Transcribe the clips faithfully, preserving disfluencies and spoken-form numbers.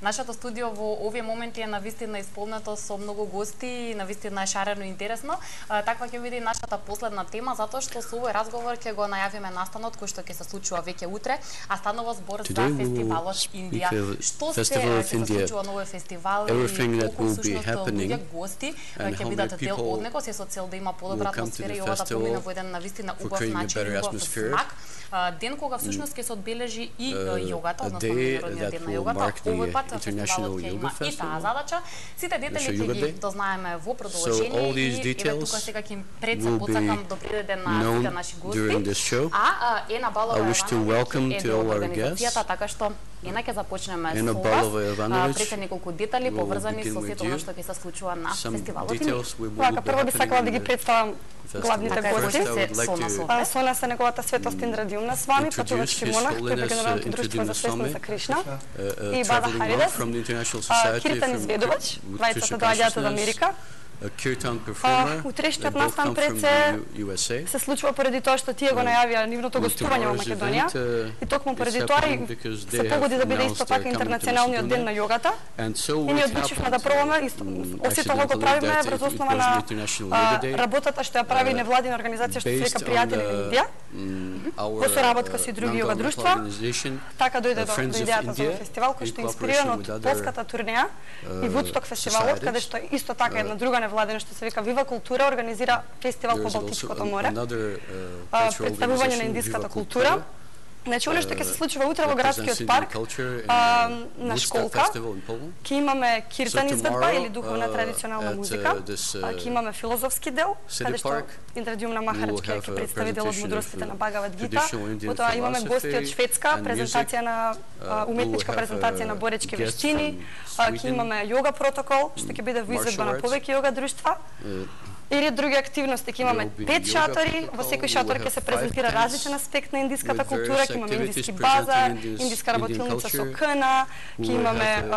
Нашето студио во овие моменти е навистина исполнето со многу гости и навистина е шарено и интересно. Таква ќе биде и нашата последна тема, затоа што со овој разговор ќе го најавиме настанот кој што ќе се случува веќе утре, а станува збор за фестивалот Индија. Што се ќе се случува на овој фестивал и колку всушност луѓе гости ќе бидат дел од него, се со цел да има подобра атмосфера и ова да помине во еден навистина убав начин, убав смак. Ден кога всушност ќе се одбележи и јогата, односно меѓународниот ден на јогата, овој пат фестивалот ќе има и таа задача. Сите детали ќе ги дознаеме во продолжение и еве тука сега ќе им пред се потсакам до приреден на сите наши гости. А Ена Балова Јовановиќ е од организацијата, така што Ена ќе започнеме со вас. Пред се неколку детали поврзани со сето она што ќе се случува на фестивалот. Вака, прво би сакала да ги представам главните гости. Со нас е неговата светост Индра Дилна с вами, патувачки монах, тој е Меѓународното друштво за свесност за Кришна, и Бада Харидас, Киртан Изведувач, двајцата доаѓаат од Америка. Утрешниот настан пред се се случува поради тоа што тие го најавија нивното гостување во Македонија и токму поради тоа се погоди да биде исто така интернационалниот ден на јогата и ние одлучивме да пробаме оси тоа го правиме врз основа на работата што ја прави невладина организација што се вика Пријатели на Индија во соработка со други јога друштва. Така дојде до идејата за фестивал кој што е инспириран од полската турнеја и Вудсток фестивалот, каде што исто така една друга невладина што се вика Вива култура организира фестивал по Балтичкото море, представување на индиската култура. Значи, оно што ќе се случува утре во градскиот парк, на школка, ќе имаме киртан изведба или духовна традиционална музика, ќе имаме филозофски дел, каде што Индра Дилна Махарач ќе представи дел од мудростите на Багават Гита, потоа имаме гости од Шведска, презентација на уметничка презентација на боречки вештини, ќе имаме јога протокол, што ќе биде во изведба на повеќе јога друштва, или други активности. Ќе имаме пет шатори, во секој шатор ќе се презентира различен аспект на индиската култура, ќе имаме индиски базар, индиска работилница со кна, ќе имаме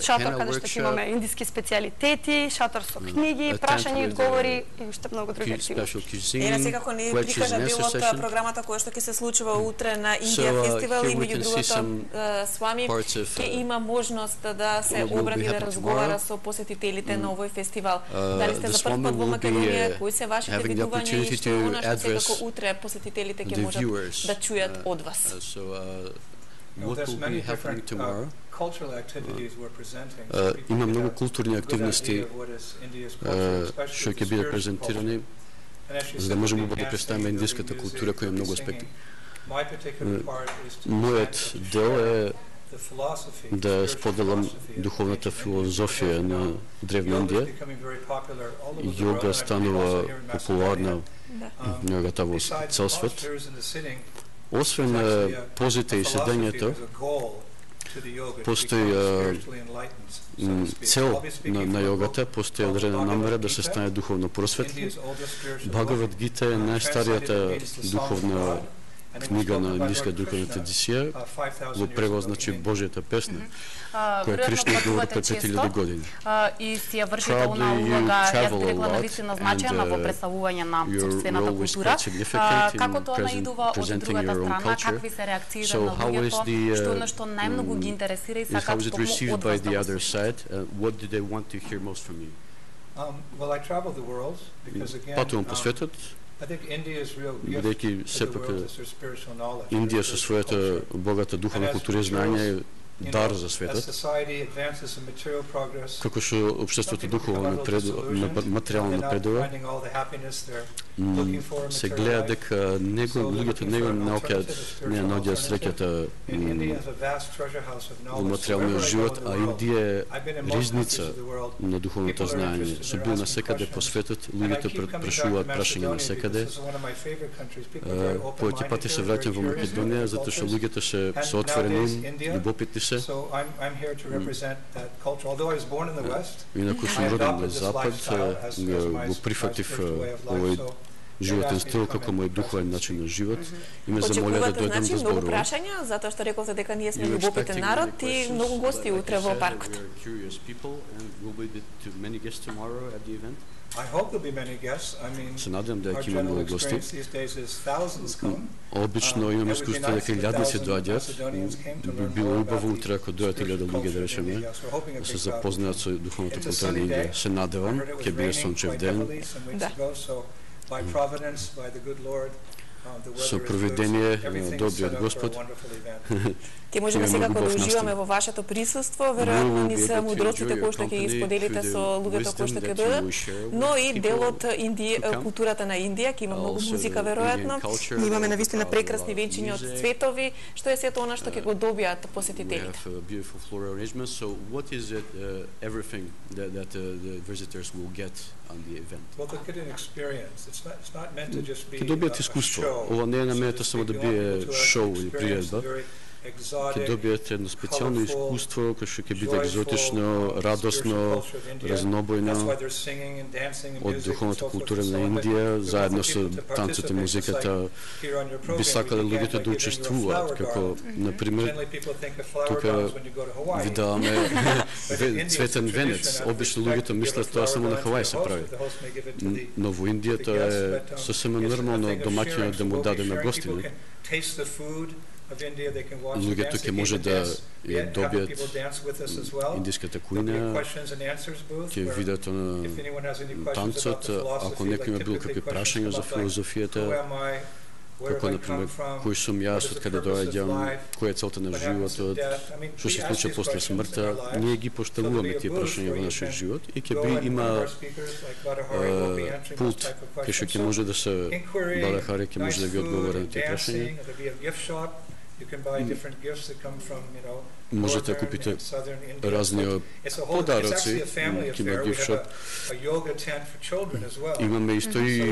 шатор каде што ќе имаме индиски специјалитети, шатор со книги, прашања и одговори и уште многу други активности. Ена секако не прикажа дел од програмата која што ќе се случува утре на Индија фестивал и меѓу другото с вами ќе има можност да се обради да разговара со посетителите на овој фестивал. Дали сте за прв пат во Македонија, кои се вашите видувања и што она што секако утре посетителите ќе можат да чујат од вас? Има многу културни активности што ќе бидат презентирани за да можеме да представиме индиската култура која е многу аспекти. Мојот дел е да споделам духовната филозофија на древна Индија. Јога станува популарна јогата во цел свет. Освен позите и седењето, постои цел на, на јогата, постои одредена намера да се стане духовно просветлен. Багават Гита е најстаријата духовна книга на индиска духовна традиција, во превод значи Божјата песна, која Кришна изговори пред пет илјади години. И си ја вршите она улога, јас би рекла навистина значајна во представување на собствената култура. Како тоа наидува од другата страна, какви се реакциите на луѓето, што она што најмногу ги интересира и сакаат што од вас да го патувам по светот, бидејќи сепак Индија со својата богата духовна култура и знање дар за светот. Како што општеството духовно материјално напредува, се гледа дека него луѓето него наоѓаат не наоѓаат среќата во материјалниот живот, а Индија е ризница на духовното знаење. Со бил насекаде по светот, луѓето прашуваат прашања насекаде. Повеќе пати се враќам во Македонија затоа што луѓето се се отворени, љубопитни се. Инаку сум роден на Запад, го прифатив овој животен стил како мој духовен начин на живот и ме замолија да дојдам да зборувам. Многу прашања, затоа што рековте дека ние сме љубопитен народ и многу гости утре во паркот. Се надевам дека ќе има многу гости. Обично имаме искуство дека илјадници доаѓаат. Би било убаво утре ако дојдат илјада луѓе, да речеме, да се запознаат со духовната култура на Индија. Се надевам, ќе биде сончев ден. Да. Со провидение добриот Господ. Ке можеме секако да уживаме во вашето присуство, веројатно ни се мудроците кои што ќе ги споделите со луѓето кои што ќе дојдат, но и делот Индија, културата на Индија, ќе има многу музика веројатно. Ние имаме навистина прекрасни венчиња од цветови, што е сето она што ќе го добијат посетителите. Ќе добијат искуство. Ова не е наменето само да биде шоу или приредба. Ќе добијате едно специјално искуство кој што ќе биде екзотично, радосно, разнобојно од духовната култура на Индија, заедно со танцот и музиката. Би сакале луѓето да учествуваат, како, например, тука ви даваме цветен венец. Обично луѓето мислат тоа само на Хавај се прави. Но во Индија тоа е сосема нормално домаќинот да му даде на гостина. Луѓето ќе може да ја добијат индиската кујна, ќе видат на танцот, ако некој има било какви прашања за филозофијата, како, например, кој сум јас, од каде доаѓам, која е целта на животот, што се случува после смртта, ние ги поставуваме тие прашања во нашиот живот и ќе би има пулт кај што ќе може да се Бадахари ќе може да ви одговори на тие прашања. Можете да купите разни подароци, ќе има gift shop. Имаме исто и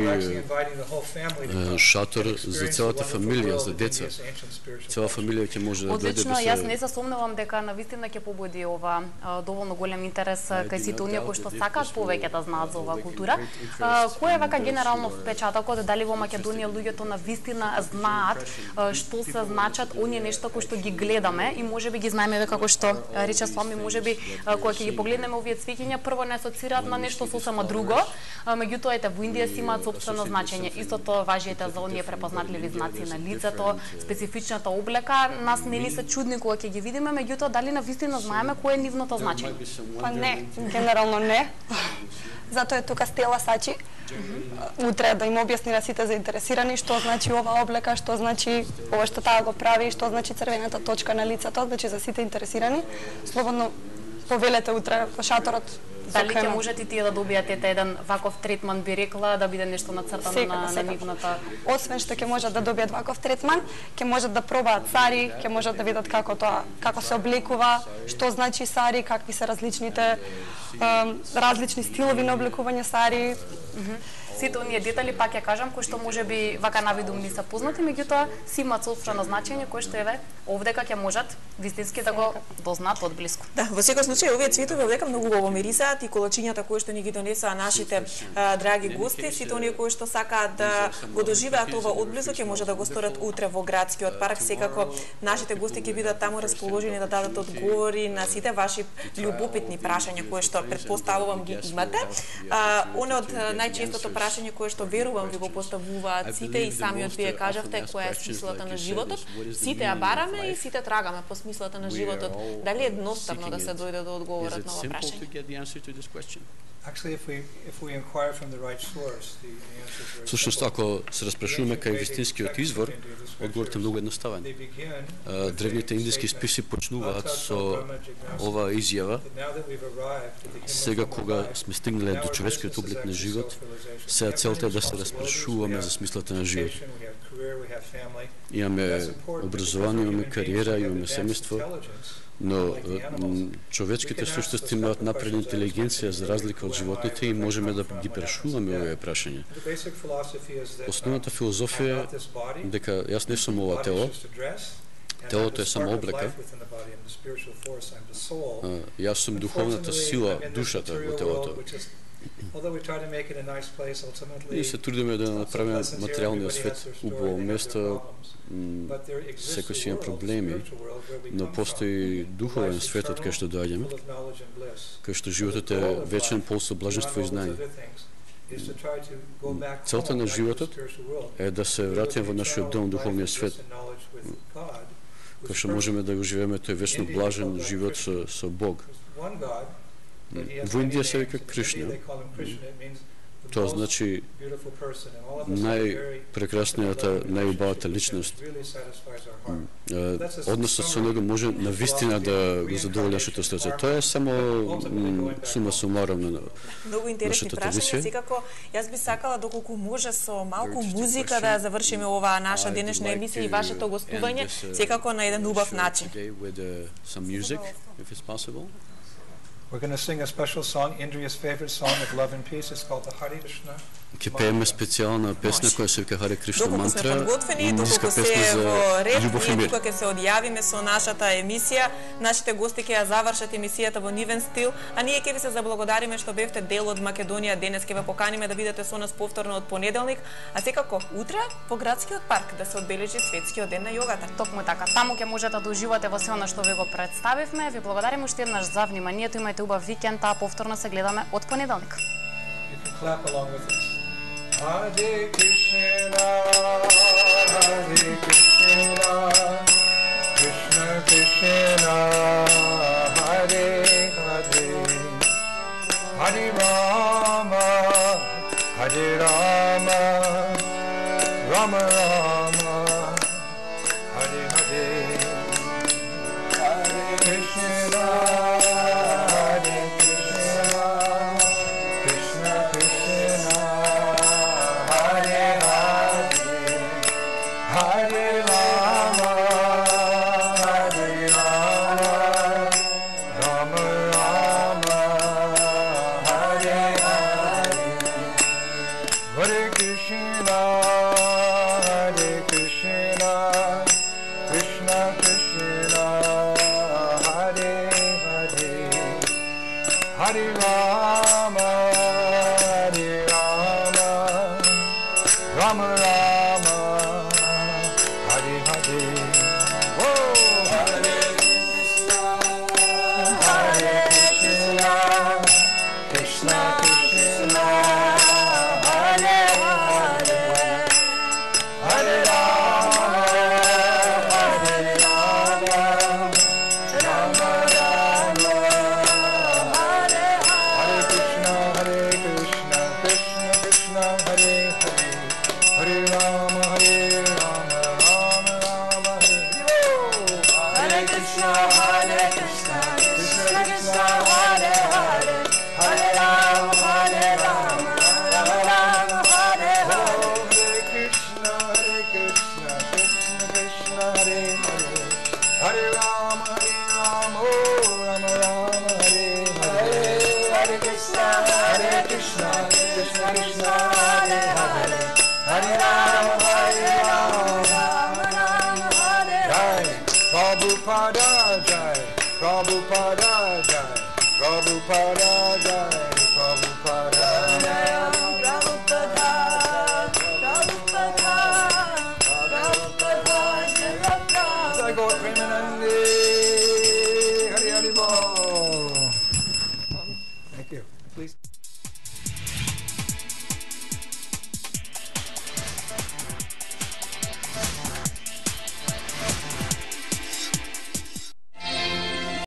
шатор за целата фамилија, за деца. Цела фамилија ќе може да дојде да се... Одлично, јас не се сомневам дека навистина ќе побуди ова доволно голем интерес кај сите оние кои што сакаат повеќе да знаат за оваа култура. Кој е вака генерално впечатокот, дали во Македонија луѓето навистина знаат што се значат оние нешта кои што ги гледаме и можеби ги знаеме како што рече Слами, можеби кога ќе ги погледнеме овие цвеќиња, прво не асоцираат на нешто сосема друго, меѓутоа ете во Индија си имаат сопствено значење. Истото важи ете за оние препознатливи знаци на лицето, специфичната облека, нас не ни се чудни кога ќе ги видиме, меѓутоа дали навистина знаеме кое е нивното значење? Па не, генерално не. Затоа е тука Стела Сачи. Утре да им објасни на сите заинтересирани што значи оваа облека, што значи ова што таа го прави, што значи црвената точка на лицето, значи за сите интересирани. Слободно повелете утре во шаторот. Дали ќе можете тие да добијате еден ваков третман, би рекла, да биде нешто нацртано на, на нивната... Освен што ќе можат да добијат ваков третман, ќе можат да пробаат сари, ќе можат да видат како тоа, како се облекува, што значи сари, какви се различните различни стилови на облекување сари. Сите оние детали, пак ја кажам, кои што можеби вака навидум не се познати, меѓутоа си имаат собствено значење кој што еве овдека ќе можат вистински да го дознаат од блиску. Да, во секој случај овие цветови овдека многу убаво мирисаат и колачињата кои што ни ги донесаа нашите а, драги гости, сите оние кои што сакаат да го доживеат ова одблизу ќе може да го сторат утре во градскиот парк. Секако нашите гости ќе бидат таму расположени да дадат одговори на сите ваши љубопитни прашања кои што претпоставувам ги имате. А, оно од најчестото прашање кое што верувам ви го поставуваат сите и самиот вие кажавте која е смислата на животот. Сите ја бараме и сите трагаме по смислата на животот. Дали е едноставно да се дојде до одговорот на ова прашање? Всушност, ако се распрашуваме кај вистинскиот извор, одговорот е многу едноставен. Древните индиски списи почнуваат со ова изјава. Сега кога сме стигнале до човечкиот облик на живот, сега целта е да се распрашуваме за смислата на живот. Имаме образование, имаме кариера, имаме семејство, но човечките суштности имаат напредна интелигенција за разлика од животните и можеме да ги прашуваме овие прашања. Основната филозофија е дека јас не сум ова тело, телото е само облека, јас сум духовната сила, душата во телото. Ние се трудиме да направиме материјалниот свет убаво место, секој си има проблеми, но постои духовен свет од кај што доаѓаме, кај што животот е вечен, пол со блаженство и знање. Целта на животот е да се вратиме во нашиот дом, духовниот свет, кај што можеме да го живееме тој вечно блажен живот со, со Бог. Во Индија се вика Кришна. Тоа значи најпрекраснијата, најубавата личност. Односот со него може навистина да го задоволи нашето срце. Тоа е само сума сумаром на многу интересни прашања. Секако, јас би сакала доколку може со малку музика да завршиме оваа наша денешна емисија и вашето гостување, секако на еден убав начин. We're going to sing a special song, Indriya's favorite song of love and peace. It's called the Hare Krishna. Ќе пееме специјална песна која се вика Харе Кришна мантра, индиска песна за љубов и мир. Тука ќе се одјавиме со нашата емисија. Нашите гости ќе ја завршат емисијата во нивен стил, а ние ќе ви се заблагодариме што бевте дел од Македонија. Денес ќе ве поканиме да бидете со нас повторно од понеделник, а секако утре во градскиот парк да се одбележи светскиот ден на јогата. Токму така. Таму ќе можете да уживате во се она што ви го представивме. Ви благодариме уште еднаш за вниманието. Имајте убав викенд, а повторно се гледаме од понеделник. Clap along with us. Hare Krishna, Hare Krishna, Krishna Krishna, Hare Hare, Hare Rama, Hare Rama, Rama Rama, Hare Hare, Hare Krishna. Prabhupada Jai, Prabhupada Jai, Prabhupada Jai, Prabhupada Jai, Prabhupada, Prabhupada, Prabhupada, Jai Gaur Premanande, Hari Hari Bol. Thank you. Please.